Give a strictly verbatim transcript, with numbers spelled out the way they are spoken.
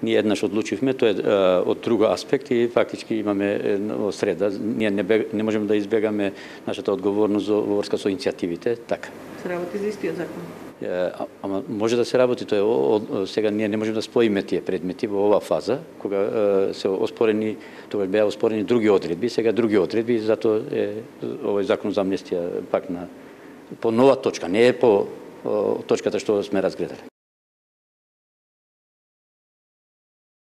Ние еднаш одлучивме, тоа е од друг аспект и фактички имаме во среда. Ние не, бег, не можеме да избегаме нашата одговорност во врска со иницијативите, така. Се работи за истиот закон? А, ама може да се работи, тоа е о, сега ние не можеме да споиме тие предмети во оваа фаза, кога е, се оспорени, тоа беа оспорени други одредби, сега други одредби, затоа е овој закон за амнестија пак на по нова точка, не е по о, точката што сме разгледали.